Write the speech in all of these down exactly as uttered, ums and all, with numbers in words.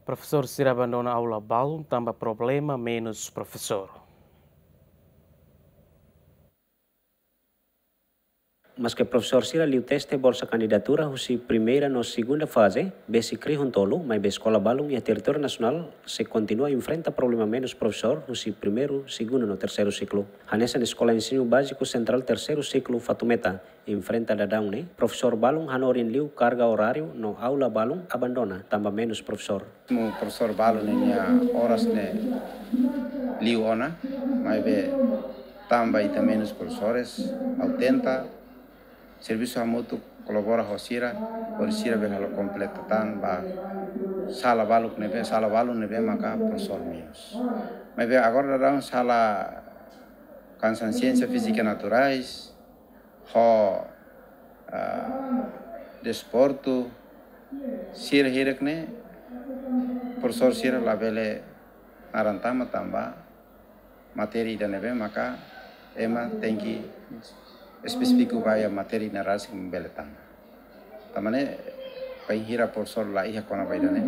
Profesór sira abandona aula balun tanba problema menus profesór. Maske profesór sira liu teste bolsa kandidatura husi primeira no segunda faze, besik rihun tolu, maibé eskola balun iha territóriu nasionál sei kontinua enfrenta problema menus profesór husi primeiru, segundu no terseiru siklu. Hanesan Eskola Ensinu Báziku Sentrál terseiru siklu Fatumeta enfrenta daudaun ne'e, profesór balun hanorin liu karga oráriu no aula balun abandona tanba menus profesór. Mezmu profesór balun ninia oras ne'e liu ona, maibé tanba ita menus profesores, ha'u tenta servisu hamutuk, kolabora ho sira, hodi sira bele halo kompleta tan ba sala balun ne'ebé, sala balun ne'ebé maka profesór menus. Maibé agora daudaun sala hanesan siénsia fízika naturais, ho, ah, desportu, sira hirak ne'e, profesór sira labele naran tama tanba matéria ida ne'ebé maka ema tenke espesífiku ba iha matéria ida ne'e rasik mak bele tama. Tanba ne'e, bainhira profesór la iha kona-ba ida ne'e,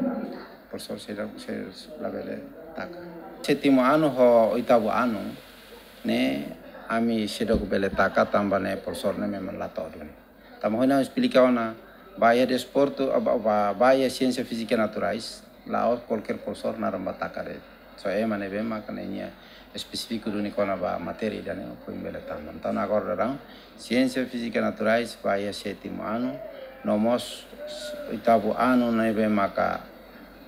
profesór sira, sira labele taka. Sétimu anu ho oitavu anu ne'e ami seidauk bele taka tanba ne'e profesór ne'e memang la to'o duni. Tanba ohin ha'u esplika ona, ba iha desportu, ba, ba, ba iha siénsia fízika naturais, la'ós kualkér profesór naran bá taka de'it. Só ema ne'ebé maka ninia espesífiku duni kona-ba matéria ida ne'e foin bele tama. Entaun agora daudaun siénsia fízika naturais ba iha sétimu anu, no mós oitavu anu ne'ebé maka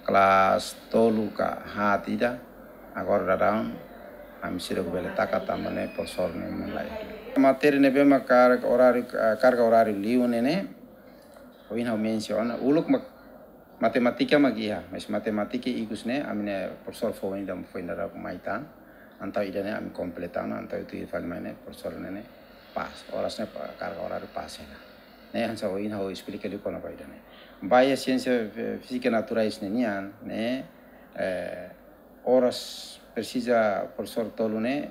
kelas tolu ka haat ida, agora daudaun ami seidauk bele taka tanba ne'e profesór ne'e memang la iha. Matéria ne'ebé maka karga oráriu, karga oráriu liu ne'e ne'e, ohin ha'u mensiona, uluk mak matemátika mak iha, mas matemátika ikus ne'e, ami-nia profesór foun ida foin daudauk mai tan, entaun ida ne'e ami kompleta ona, entaun tuir fali mai ne'e, profesór ne'e ne'e pas, oras ne'e pa-, karga oráriu pas hela. Ne'e hanesan ohin ha'u esplika liu kona-ba ida ne'e. Ba iha siénsia, eh, fízika naturais ne'e nian, ne'e, eh, oras presiza profesór tolu ne'e,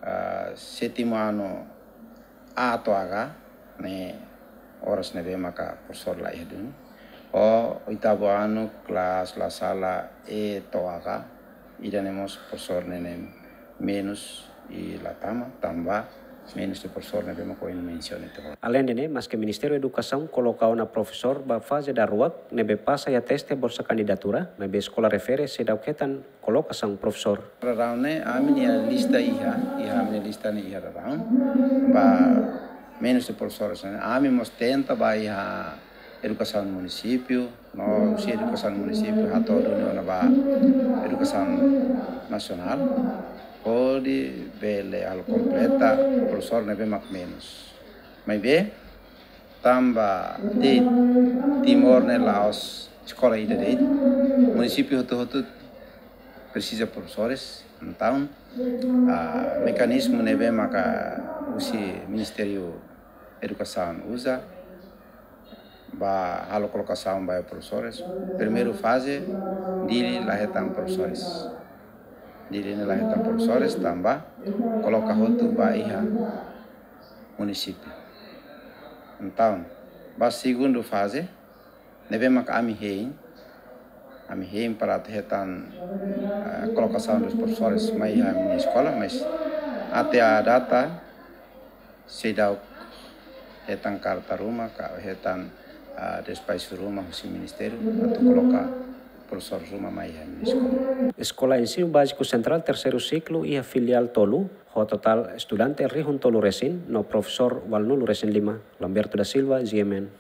ah, sétimu anu A to'o H, ne'e oras ne'ebé maka profesór la iha duni. Ho oitavu anu kelas la sala E to'o H, ida ne'e mós profesór ne'e ne'e menus i la tama, tanba menus de profesór ne'ebé maka ohin mensiona tiha ona. Aleinde ne'e, maske Ministériu Edukasaun koloka ona profesór ba faze daruak ne'ebé pasa iha teste bolsa kandidatura, maibé eskola refere seidauk hetan kolokasaun profesór. Daudaun ne'e, ami-nia lista iha, iha ami-nia lista ne'e iha daudaun. Ba menus de profesores ne'e, ami mós tenta ba iha edukasaun munisípiu, no husi edukasaun munisípiu hato'o duni ona ba edukasaun nasionál, hodi bele halo kompleta profesór ne'ebé mak menus. Maibé, tanba de'it Timor ne'e la'ós eskola ida de'it, munisípiu hotu-hotu presiza profesores, entaun, ah, mekanizmu ne'ebé maka husi Ministériu Edukasaun uza, ba halo kolokasaun ba profesores. Primeiru faze, Dili la hetan profesores. Dili ne'e la hetan profesores, tanba koloka hotu ba iha munisípiu. Entaun, ba segundu faze, ne'ebé maka ami hein, ami hein para atu hetan, eh, kolokasaun dos profesores mai iha ami-nia eskola, mas até à data, seidauk hetan karta ruma, ka hetan, ah, despaxu ruma husi ministériu, atu koloka profesór ruma mai iha ami-nia eskola. Eskola Ensinu Báziku Sentrál terseiru siklu iha filiál tolu, ho totál estudante rihun tolu resin, no profesór ualunulu resin lima. Lamberto da Silva, G M N.